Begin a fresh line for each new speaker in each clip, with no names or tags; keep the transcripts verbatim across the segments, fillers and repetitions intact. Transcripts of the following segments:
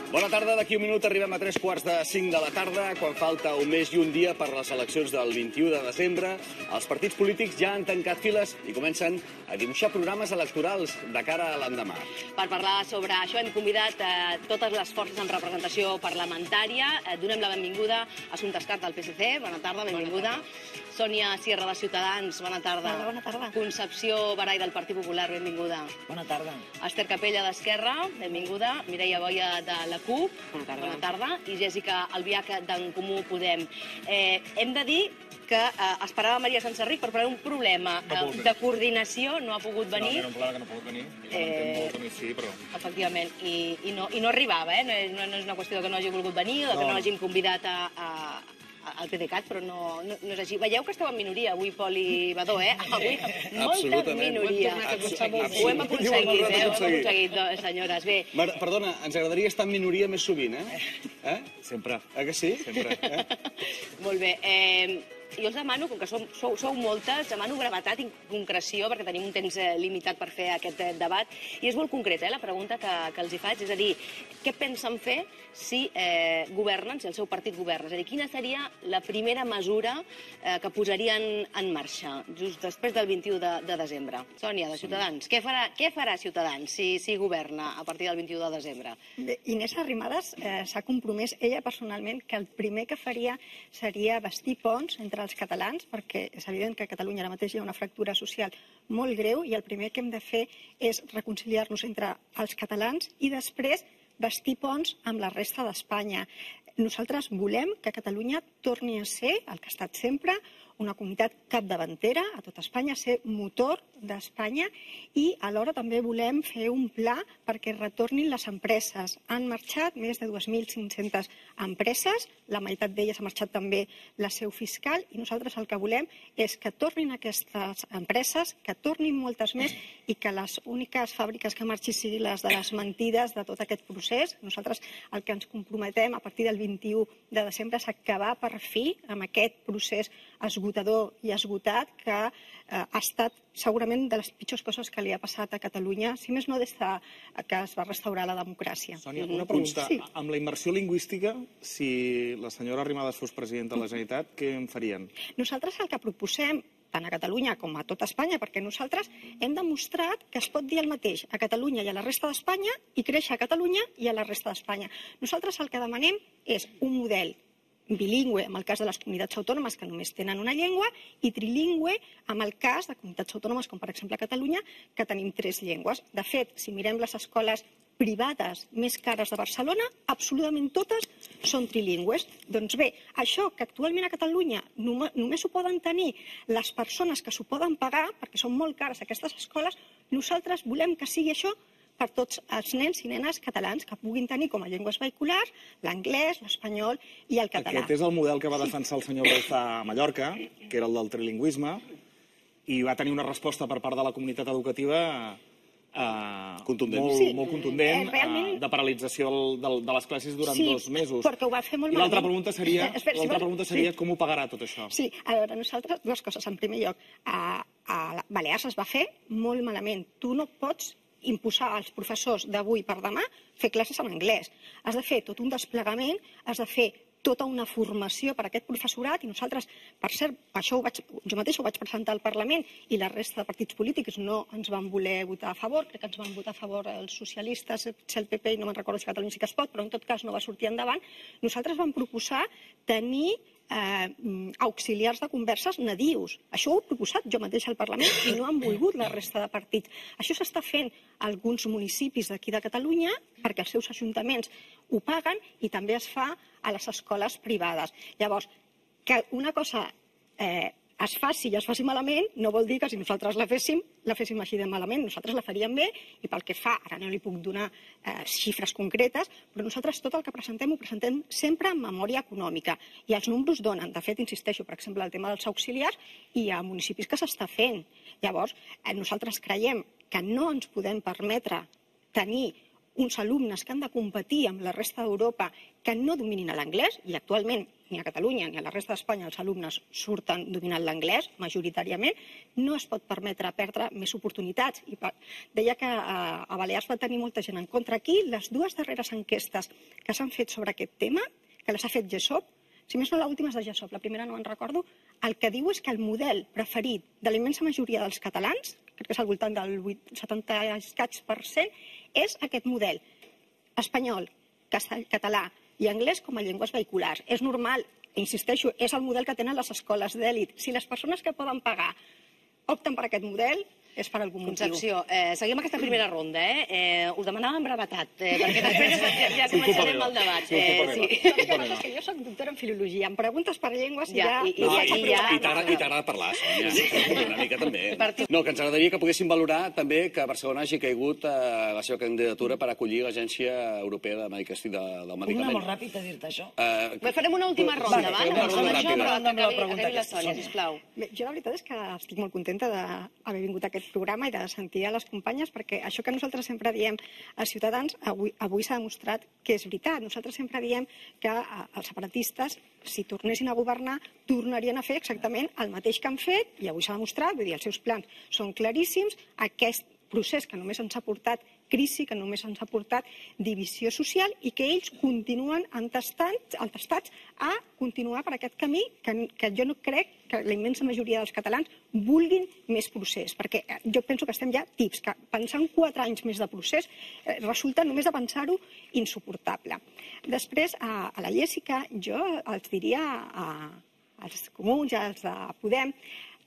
Bona tarda, d'aquí un minut arribem a tres quarts de cinc de la tarda, quan falta un mes i un dia per les eleccions del vint-i-u de desembre. Els partits polítics ja han tancat files i comencen a dibuixar programes electorals de cara a l'endemà.
Per parlar sobre això hem convidat eh, totes les forces amb representació parlamentària. Eh, donem la benvinguda a Assumpta Escarp del P S C. Bona tarda, benvinguda. Sònia Sierra de Ciutadans, bona tarda.
Hola, bona tarda.
Concepció Barai del Partit Popular, benvinguda.
Bona tarda.
Esther Capella d'Esquerra, benvinguda. Mireia Boia de la C U P,
bona tarda.
Bona tarda. I Jèssica Albiach d'en Comú Podem. Eh, hem de dir que eh, esperava Maria Senserrich per parlar d'un problema eh, de coordinació, no ha pogut venir.
No, era un problema que no ha pogut venir.
Eh,
molt, mi sí, però...
Efectivament, i, i, no, i no arribava, eh? no, no és una qüestió que no hagi volgut venir o que no, no hàgim convidat a, a, al PDeCAT, però no, no, no és així. Veieu que esteu en minoria avui, Pol i Badó, eh? Avui, molta minoria. Ho hem aconseguit, eh? Ho hem aconseguit, senyores. Bé.
Perdona, ens agradaria estar en minoria més sovint, eh? eh?
Sempre.
Eh que sí?
Sempre.
Eh?
Molt bé. Eh, jo els demano, com que sou, sou, sou moltes, demano brevetat i concreció, perquè tenim un temps eh, limitat per fer aquest eh, debat. I és molt concreta, eh, la pregunta que, que els hi faig. És a dir, què pensen fer si eh, governen, si el seu partit governa? És a dir, quina seria la primera mesura eh, que posarien en marxa just després del vint-i-u de, de desembre? Sònia, de Ciutadans, què farà, què farà Ciutadans si, si governa a partir del vint-i-u de desembre?
Bé, Inés Arrimadas eh, s'ha compromès ella personalment que el primer que faria seria bastir ponts entre els catalans, perquè és evident que a Catalunya ara mateix hi ha una fractura social molt greu i el primer que hem de fer és reconciliar-nos entre els catalans i després bastir ponts amb la resta d'Espanya. Nosaltres volem que Catalunya torni a ser, el que ha estat sempre, una comunitat capdavantera a tot Espanya, ser motor d'Espanya i alhora també volem fer un pla perquè retornin les empreses. Han marxat més de dues mil cinc-centes empreses, la meitat d'elles ha marxat també la seu fiscal i nosaltres el que volem és que tornin aquestes empreses, que tornin moltes més i que les úniques fàbriques que marxin siguin les de les mentides de tot aquest procés. Nosaltres el que ens comprometem a partir del vint-i-u de desembre és acabar per fi amb aquest procés esgotador i esgotat que eh, ha estat segurament de les pitjors coses que li ha passat a Catalunya, si més no des de que es va restaurar la democràcia.
Sònia, una pregunta.
Sí.
Amb la immersió lingüística, si la senyora Arrimadas fos presidenta de la Generalitat, què en farien?
Nosaltres el que proposem tant a Catalunya com a tot Espanya, perquè nosaltres hem demostrat que es pot dir el mateix a Catalunya i a la resta d'Espanya i créixer a Catalunya i a la resta d'Espanya. Nosaltres el que demanem és un model bilingüe en el cas de les comunitats autònomes que només tenen una llengua i trilingüe en el cas de comunitats autònomes com per exemple Catalunya que tenim tres llengües. De fet, si mirem les escoles privades més cares de Barcelona, absolutament totes són trilingües. Doncs bé, això que actualment a Catalunya només ho poden tenir les persones que s'ho poden pagar, perquè són molt cares aquestes escoles, nosaltres volem que sigui això per tots els nens i nenes catalans que puguin tenir com a llengües vehiculars l'anglès, l'espanyol i el català.
Aquest és el model que va defensar el senyor Bauzá a Mallorca, que era el del trilingüisme, i va tenir una resposta per part de la comunitat educativa eh,
contundent.
molt,
Sí.
molt contundent,
Eh, realment-
eh, de paralització de, de les classes durant
Sí,
dos mesos.
perquè ho va fer molt
I l'altra
malament.
pregunta seria,
Eh, espera, si
l'altra
vols-
pregunta seria
sí.
com ho pagarà tot això?
Sí, a veure, nosaltres, dues coses. En primer lloc, a, a Balears es va fer molt malament. Tu no pots imposar als professors d'avui per demà fer classes en anglès. Has de fer tot un desplegament, has de fer tota una formació per a aquest professorat i nosaltres, per cert, això ho vaig, jo mateix ho vaig presentar al Parlament i la resta de partits polítics no ens van voler votar a favor, crec que ens van votar a favor els socialistes, el P P i no me'n recordo si Catalunya sí que es pot, però en tot cas no va sortir endavant. Nosaltres vam proposar tenir eh, auxiliars de converses nadius. Això ho he proposat jo mateix al Parlament i no han volgut la resta de partits. Això s'està fent a alguns municipis d'aquí de Catalunya perquè els seus ajuntaments ho paguen i també es fa a les escoles privades. Llavors, que una cosa eh, es faci i es faci malament no vol dir que si nosaltres la féssim, la féssim així de malament. Nosaltres la faríem bé i pel que fa, ara no li puc donar eh, xifres concretes, però nosaltres tot el que presentem ho presentem sempre en memòria econòmica i els números donen. De fet, insisteixo, per exemple, el tema dels auxiliars i a municipis que s'està fent. Llavors, eh, nosaltres creiem que no ens podem permetre tenir uns alumnes que han de competir amb la resta d'Europa que no dominin l'anglès, i actualment ni a Catalunya ni a la resta d'Espanya els alumnes surten dominant l'anglès, majoritàriament, no es pot permetre perdre més oportunitats. I deia que a Balears va tenir molta gent en contra. Aquí, les dues darreres enquestes que s'han fet sobre aquest tema, que les ha fet GESOP, si més no, l'última és de GESOP, la primera no en recordo, el que diu és que el model preferit de la immensa majoria dels catalans, crec que és al voltant del setanta per cent, és aquest model espanyol, català i anglès com a llengües vehiculars. És normal, insisteixo, és el model que tenen les escoles d'èlit. Si les persones que poden pagar opten per aquest model, és per algun motiu.
Concepció, eh, seguim aquesta primera ronda, eh? eh us demanàvem brevetat, eh, perquè després ja, ja començarem el debat.
Sí, eh, sí. És que jo soc doctora en filologia, em preguntes per llengües i ja...
I,
no, i, i, ja, i t'agrada parlar, Sònia. Sí. Una mica també. No, que ens agradaria que poguéssim valorar també que Barcelona hagi caigut a la seva candidatura per acollir l'Agència Europea de Medicació del Medicament.
Puc anar molt ràpid a dir-te això?
Uh, farem una última ronda, va?
Una ronda ràpida.
Acabi la Sònia, sisplau.
Jo la veritat és que estic molt contenta d'haver vingut a aquest programa i de sentir a les companyes, perquè això que nosaltres sempre diem als ciutadans, avui, avui s'ha demostrat que és veritat. Nosaltres sempre diem que els separatistes, si tornessin a governar, tornarien a fer exactament el mateix que han fet, i avui s'ha demostrat, vull dir, els seus plans són claríssims, aquest procés que només ens ha portat crisi, que només ens ha portat divisió social i que ells continuen entestats a continuar per aquest camí que, que jo no crec que la immensa majoria dels catalans vulguin més procés, perquè jo penso que estem ja tips, que pensar en quatre anys més de procés eh, resulta només de pensar-ho insuportable. Després, a, a la Jessica, jo els diria a, als comuns i als de Podem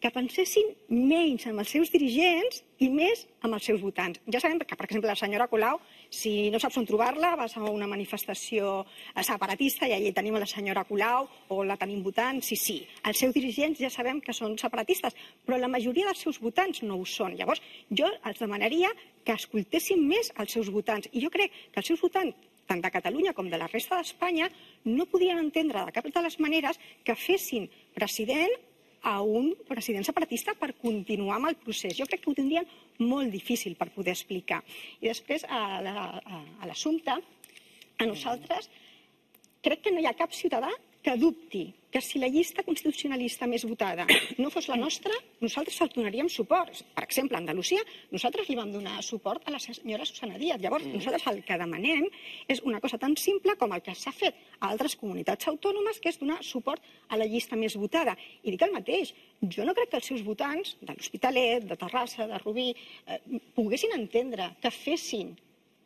que pensessin menys amb els seus dirigents i més amb els seus votants. Ja sabem que, per exemple, la senyora Colau, si no saps on trobar-la, vas a una manifestació separatista i allà tenim la senyora Colau o la tenim votant, sí, sí. Els seus dirigents ja sabem que són separatistes, però la majoria dels seus votants no ho són. Llavors, jo els demanaria que escoltessin més els seus votants. I jo crec que els seus votants, tant de Catalunya com de la resta d'Espanya, no podien entendre de cap de les maneres que fessin president a un president separatista per continuar amb el procés. Jo crec que ho tindrien molt difícil per poder explicar. I després, a l'assumpte, a nosaltres, crec que no hi ha cap ciutadà que dubti que si la llista constitucionalista més votada no fos la nostra, nosaltres el donaríem suport. Per exemple, a Andalusia, nosaltres li vam donar suport a la senyora Susana Díaz. Llavors, nosaltres el que demanem és una cosa tan simple com el que s'ha fet a altres comunitats autònomes, que és donar suport a la llista més votada. I dic el mateix, jo no crec que els seus votants de l'Hospitalet, de Terrassa, de Rubí, eh, poguessin entendre que fessin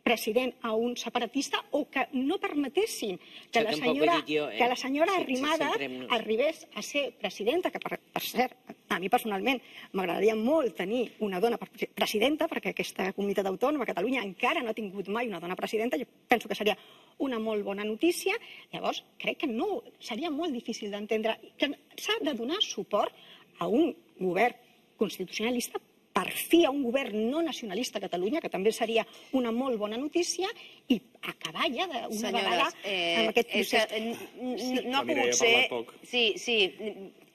president a un separatista o que no permetessin que la senyora, que la senyora Arrimadas arribés a ser presidenta, que per, per cert, a mi personalment m'agradaria molt tenir una dona presidenta, perquè aquesta comunitat autònoma, Catalunya, encara no ha tingut mai una dona presidenta. Jo penso que seria una molt bona notícia. Llavors, crec que no, seria molt difícil d'entendre que s'ha de donar suport a un govern constitucionalista, per fi a un govern no nacionalista a Catalunya, que també seria una molt bona notícia, i acabar ja d'una vegada amb aquest procés.
Que no ha pogut ser... Sí, sí,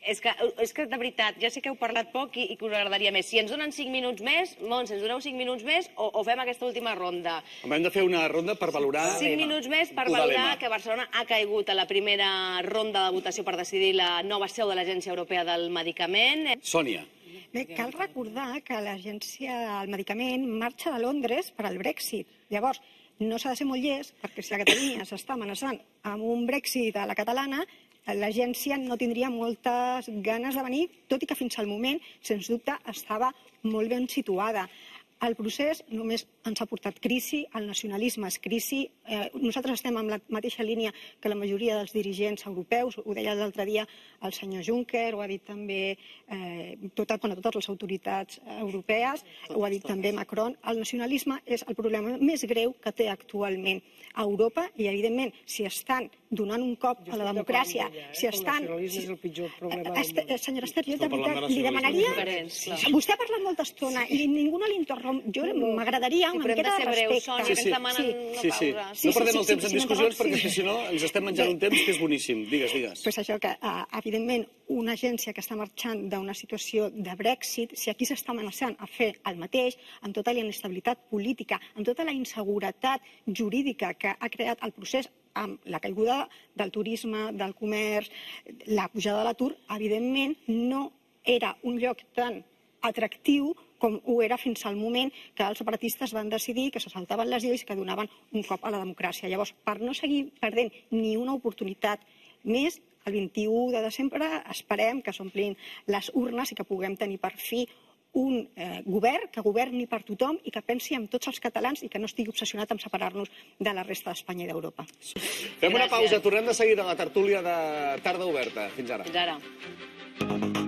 és que, és que de veritat, ja sé que heu parlat poc i, i que us agradaria més. Si ens donen cinc minuts més, Montse, ens doneu cinc minuts més o, o fem aquesta última ronda?
Hem de fer una ronda per valorar...
Cinc minuts més per valorar que Barcelona ha caigut a la primera ronda de votació per decidir la nova seu de l'Agència Europea del Medicament.
Sònia.
Bé, cal recordar que l'Agència del Medicament marxa de Londres per al Brexit. Llavors, no s'ha de ser molt llest, perquè si la Catalunya s'està amenaçant amb un Brexit a la catalana, l'agència no tindria moltes ganes de venir, tot i que fins al moment, sens dubte, estava molt ben situada. El procés només ens ha portat crisi, el nacionalisme és crisi. Eh, nosaltres estem en la mateixa línia que la majoria dels dirigents europeus, ho deia l'altre dia el senyor Juncker, ho ha dit també eh, tot, bueno, totes les autoritats europees, ho ha dit també Macron. El nacionalisme és el problema més greu que té actualment a Europa i, evidentment, si estan donant un cop a la democràcia, si estan... Senyora Ester, jo de veritat li demanaria... Vostè ha parlat molta estona i ningú no l'interromp. Jo m'agradaria una miqueta de respecte.
Sí, sí, sí.
Sí, sí. No perdem el temps en discussions perquè si no ens estem menjant un temps que és boníssim. Digues, digues.
Pues això que, evidentment, una agència que està marxant d'una situació de Brexit, si aquí s'està amenaçant a fer el mateix, amb tota la inestabilitat política, amb tota la inseguretat jurídica que ha creat el procés amb la caiguda del turisme, del comerç, la pujada de l'atur, evidentment no era un lloc tan atractiu com ho era fins al moment que els separatistes van decidir que se saltaven les lleis i que donaven un cop a la democràcia. Llavors, per no seguir perdent ni una oportunitat més, el vint-i-u de desembre esperem que s'omplin les urnes i que puguem tenir per fi un eh, govern que governi per tothom i que pensi en tots els catalans i que no estigui obsessionat en separar-nos de la resta d'Espanya i d'Europa.
Fem una pausa, tornem de seguida a la tertúlia de Tarda Oberta. Fins ara.
Fins ara.